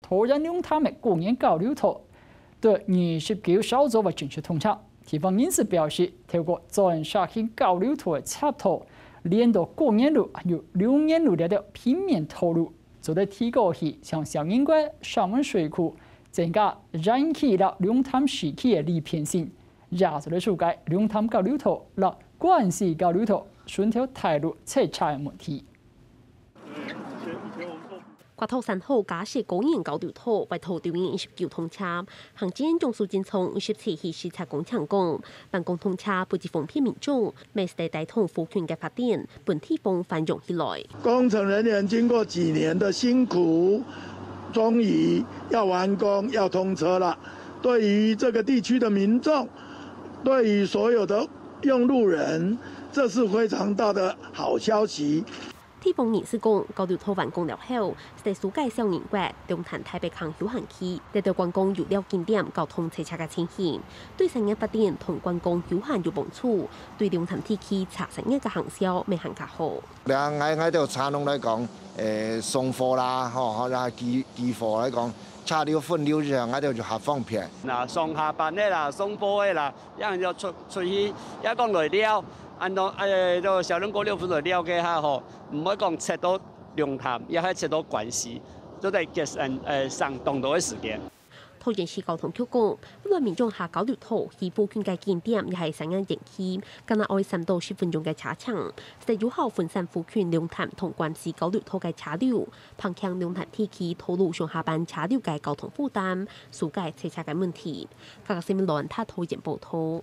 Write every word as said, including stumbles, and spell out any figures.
桃園龍潭个過年交流道，對二十九稍早會正式通車。地方人士表示，透過鑽石型交流道个插頭，連到過年路還有龍年路這條平面道路，做得提高去像小人國、石門水庫，增加園區摎龍潭市區个利便性，也做得紓解龍潭交流道摎關西交流道順頭大路塞車个問題。 國道三號佳石公園交流道會在六月二十九通車。行政長蘇貞昌二十七日視察工程講，完工通車不止方便民眾，乜係帶動附近个發展，分地方繁榮起來。工程人員經過幾年的辛苦，終於要完工，要通車了。對於這個地區的民眾，對於所有的用路人，這是非常大的好消息。 地方人士講，交流道完工了後，係紓解小人國、龍潭大壩坑休閒區，這兜觀光遊樂景點交通塞車个情形，對產業發展同觀光休閒有幫助，對龍潭地區茶產業个行銷乜還較好。這𠊎𠊎兜茶農來講，誒，送貨啦，吼，或者寄寄貨來講，車流分流之後，𠊎兜就較方便。那上下班个啦，送貨个啦， 也就出出去，也講來尞，恁樣，誒，就小人國六分來尞个下吼，毋會講塞到龍潭，也還塞到關西，就在節省誒省當多个時間。桃園市交通局講，為了民眾下交流道去附近个景點也係產業園區，干焦愛三到十分鐘个車程，係有效分散附近龍潭同關西交流道个車流，減輕龍潭地區道路上下班車流个交通負擔，紓解塞車个問題。 客家新聞羅安塔桃園報導。